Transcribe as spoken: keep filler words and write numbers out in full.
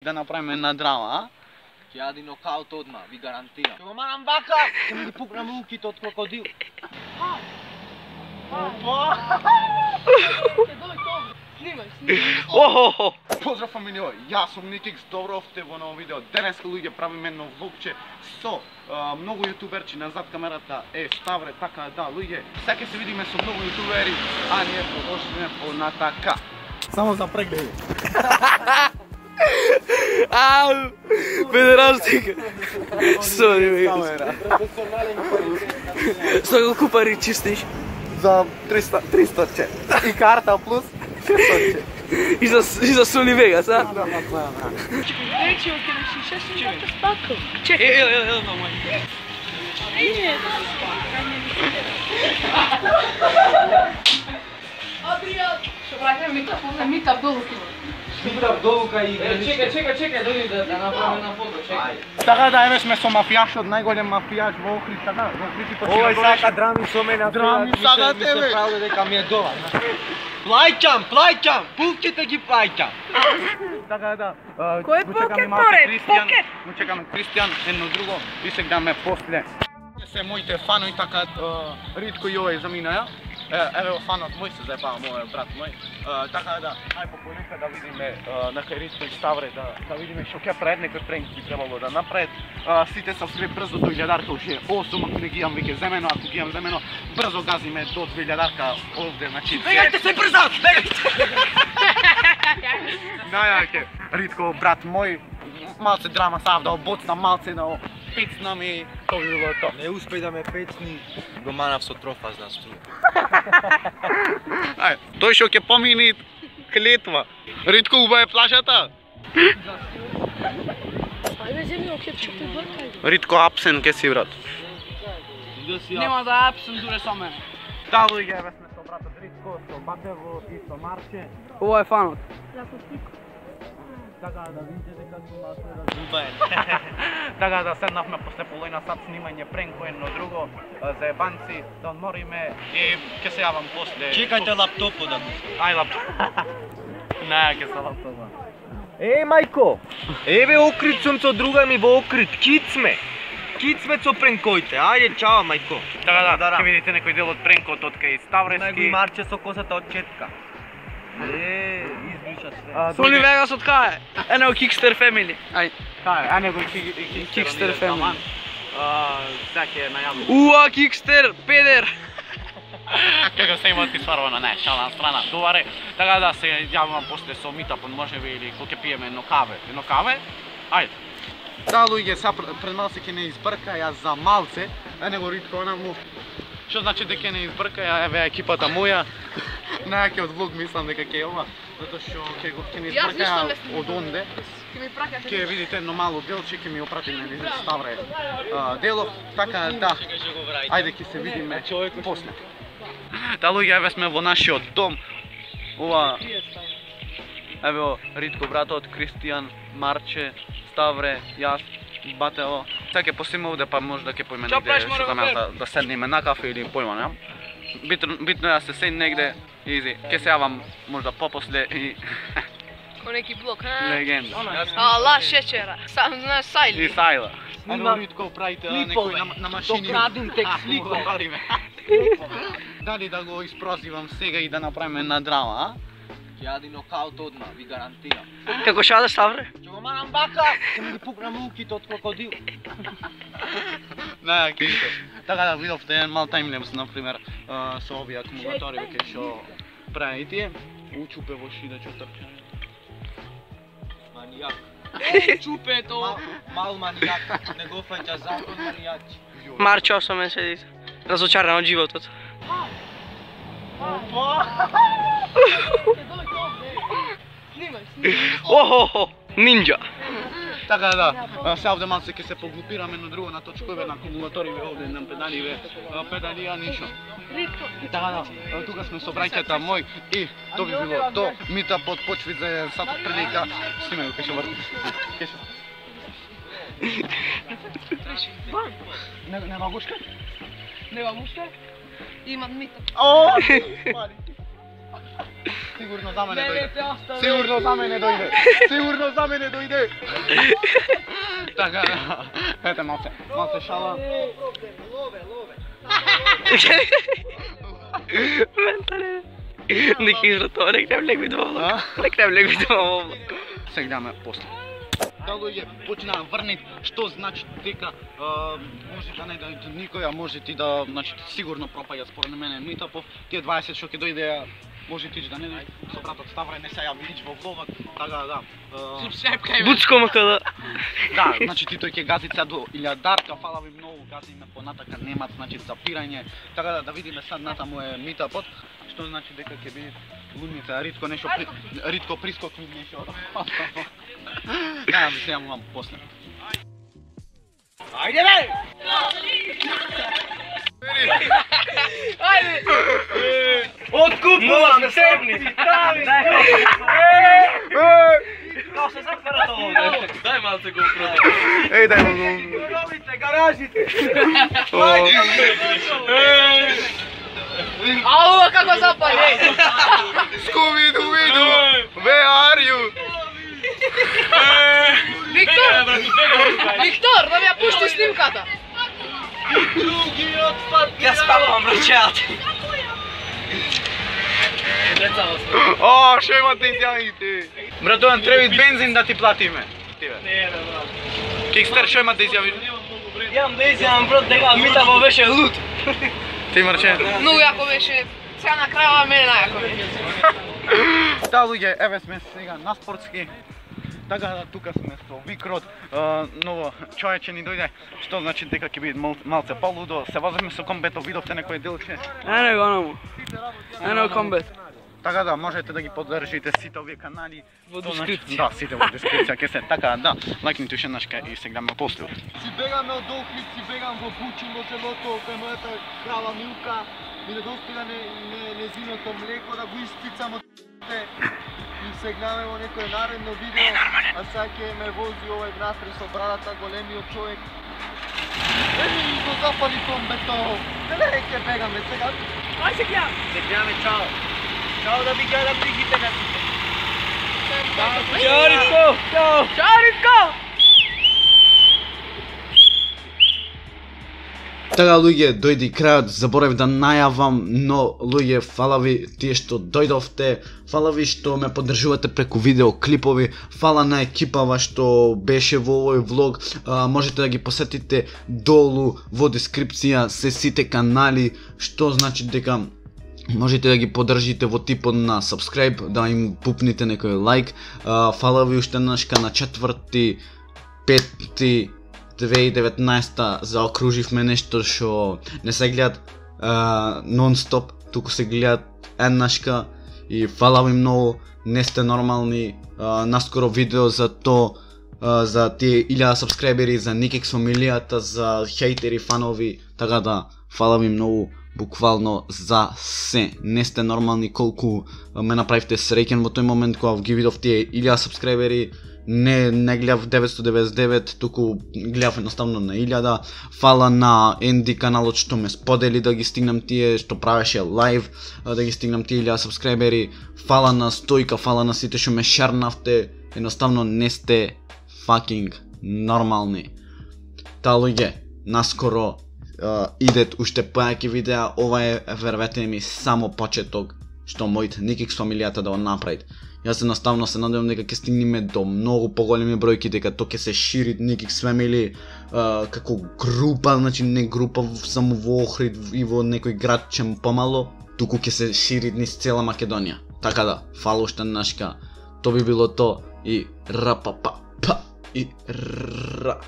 Да направиме една драма, а? Ќе јади нокаут одма, ви гарантирам. Ќе го марам бака, ќе ми ги пукнам луките од крокодил. Охо! Поздрав фамилио, јас сум Никикс, добро овте во ново видео. Денеска луѓе правиме едно влогче со а, многу јутуберчи назад камерата е Ставре, така да луѓе. Сега се видиме со многу јутубери, а ние продолжиме по натака. Само за прегледи. Ау! Педерастик! Сори, бе. Со колку пари чистиш? За триста триста че. И карта плюс шестsto. И за и за Сони Вегас, а? Да, да, да. Речи, оке не си шест минута спакал. Чекай, ево, ево, ево, мај. Не, да спакање ми се. Адриан! Што правиме микрофон, микав долу. Шибрав долука и Чекај, чекај, чекај, дојди да да направиме една фото, чекај. Така да, еве сме со мафијашот, најголем мафијаш во Охрид, така, во Охрид и почина. Овој сака драми со мене, Драми сака ми тебе. се правда дека ми е дола. Плаќам, плаќам, пулките ги плаќам. Така да. Кој го чекаме покет, малку море? Кристијан, Покет? го чекаме Кристијан, едно друго и се гледаме после. Се моите фанови така ритко и овој заминаја. Еве фанот мој се заебава, мојот брат мој. Така да, ај пополека да видиме на кај Ритко и Ставре да да видиме што ќе прават, некој пренки би требало да направат. Сите се вскри брзо до илјадарка уште осум, ако не ги имам веќе земено, ако ги имам земено, брзо газиме до две илјадарка овде, значи. Бегајте се брзо, бегајте. Најаке, Ритко, брат мој, малце драма сав да обоцна, малце да пицна ми, тоа би било тоа. Не успеј да ме пецни, го манав со трофа за струја. Ај, тој што ќе помини клетва. Ритко уба е плажата. Ајде, земи оке чупи бркај. Ритко апсен ке си, брат. Нема да апсен дуре со мене. Да, луѓе, еве сме со братот Ритко, со Батево и со Марче. Ова е фанот. Така да видите дека сум на се Убаен. Така да седнавме после половина сат снимање пренко едно друго, заебанци, да одмориме и ќе се јавам после. Чекајте лаптопот да го. Ај лаптоп. Не, ќе се лаптопа. Еј мајко, еве Охрид сум со друга ми во Охрид, кит сме. Кит сме со пренкоите, ајде чао мајко. Така да, ќе видите некој дел од пренкот од кај Ставрески. Најго Марче со косата од четка. Е, избриша све. Сони Вегас од кај? Едно Kickster Family. Ај. Кај, а него Kickster Family. Сега ќе најавам. Уа, Kickster, педер. Како се има ти сварвано, не, шала на страна. Добаре, така да се јавам после со митапот, можеби или кога ќе пиеме едно каве. Едно каве? Ајде. Да, луѓе, сега пред малце ќе не избрка, јас за малце, а него Ритко она му. Што значи дека не избрка, ја еве екипата моја. Најаке од влог мислам дека ќе е ова, затоа што ќе го ќе не избрка од онде. Ќе ми пракате. Ќе видите едно мало делче, ќе ми опрати на Лиза Ставре делов, така да. Ајде ќе се видиме после. Да, луѓе, еве сме во нашиот дом. Ова еве Ритко братот, Кристијан, Марче, Ставре, јас, Батево. Сега ќе посиме овде, па може да ќе поиме негде што да ме да, да седнеме на кафе или појма, не? Битно, битно е да се седне негде, изи. Ќе се јавам можда попосле и Ко неки блок, а? легенда. Ала, шечера. Сам знаеш И Сајли. Сајла. Снимам Ано Ритко правите клипове. некој на, на машини. Докраден текст А, клипове. говориме. Дали да го испрозивам сега и да направиме една драма, а? Ќе јади нокаут одма, ви гарантирам. Како шада Ставре? Ќе го марам бака, ќе ми ги пукнам луките од крокодил. Не, кисто. Така да видовте еден мал таймлепс, например, со овие акумулатори веќе што прави тие. Учупе во шидачо трчање. Манијак. Чупето. Мал, мал манијак, не го фаќа закон манијак. Марчо со мен седи. Разочаран од животот. Снимај, снимај. Охо, нинџа. Така да, се овде малце ќе се поглупираме на друго, на точкове, на акумулаториве овде, на педаливе, педалија, ништо. Така да, тука сме со браќата мој и тоа би било то. Мита под почвит за еден сат прилика. Снимај го, ке ќе врти. Ке ќе... Не, нема гушка? Нема мушка? Имам мита. О! Сигурно за мене дојде. Сигурно за мене дојде. Сигурно за мене дојде. Така, ете малце, малце шала. Лове, лове. Ментале. Не кажа тоа, не крем лек видимо влог. Не крем лек видимо влог. Се гледаме после. Да луѓе почнаа врнет, што значи дека може да не да никој, а може ти да, значи сигурно пропаѓа според мене Митапов. Тие дваесет што ќе дојде, може ти да не дојде со братот Ставре, не се јави нич во влогот, така да. Буцко мака да. Да, значи ти тој ќе гази сега до илјадарка, фала ви многу, газиме понатака, немат значи запирање, така да да видиме сад натаму е Митапот, што значи дека ќе биде луница, ритко нешто при, ритко прискокни нешто. Да, ви се јавувам после. Ајде бе! Ајде! Откупувам теб! Као се затвара тоа? Дај малце го продам. Еј, дај го. Робите гаражите! Ау, како запали! Scooby-Doo, where are you? Виктор! Виктор, да ми ја пушти снимката! Другиот пат! Ја спавам, брачат! О, што имате изјавите? Братован, треба бензин да ти платиме. Не, бе, брат. Кикстер, што има да изјавиш? Јам да изјавам, брат, дека Митапов беше лут. Ти Марче? Многу јако беше, сега на крајава мене најако беше. Да, луѓе, еве сме сега на спортски. Така да, тука сме со Викрот, ново човече ни дојде, што значи дека ќе биде малце полудо. Се возиме со комбето, видовте некој делче. Ене го намо. Ене комбет. Така да, можете да ги поддржите сите овие канали Во Тоа значи- дескрипција. Да, сите во дескрипција ќе се. Така да, лајкнете уште нашка и се гледаме после. Си бегаме од Охрид, си бегам во Бучин, во селото, кај мојата крава Милка, ми не достига не, не, незиното млеко да го испицам од т**те. И се гледаме во некој наредно видео, а сега ќе ме вози овој внатре со брадата, големиот човек. Еми и го запали комбето. Дали ќе бегаме сега? Ај се гледам. Се гледаме, чао. Чао да ви гледам лигите на сите. Чао Ритко. Чао. Чао Ритко. Така луѓе, дојде и крајот, заборав да најавам, но луѓе, фала ви тие што дојдовте, фала ви што ме поддржувате преку видеоклипови, фала на екипава што беше во овој влог, а, можете да ги посетите долу во дескрипција се сите канали, што значи дека можете да ги поддржите во типот на subscribe, да им пупните некој лайк, а, фала ви уште нашка на четврти, пети, две илјади и деветнаесета заокруживме нешто што не се гледат нон-стоп, туку се гледат еднашка и фала ви многу, не сте нормални, а, наскоро видео за то, а, за тие илјада сабскрајбери, за Никекс фамилијата, за хейтери, фанови, така да, фала ви многу, буквално за се, не сте нормални колку ме направивте среќен во тој момент кога ги видов тие илјада сабскрајбери. Не, не гледав деветстотини деветдесет и девет, туку гледав едноставно на илјада. Фала на Енди каналот што ме сподели да ги стигнам тие, што правеше лайв, да ги стигнам тие илјада сабскрајбери. Фала на Стојка, фала на сите што ме шернавте. Едноставно не сте fucking нормални. Та луѓе, наскоро uh, идет уште појаки видеа, ова е, вервете ми, само почеток што мојот Никекс фамилијата да го направит. Јас едноставно се надевам дека ќе стигнеме до многу поголеми бројки, дека тоа ќе се шири Никекс Family uh, како група, значи не група само во Охрид и во некој градче помало, туку ќе се шири низ цела Македонија. Така да, фала уште нашка. Тоа би било то и ра па па па и ра.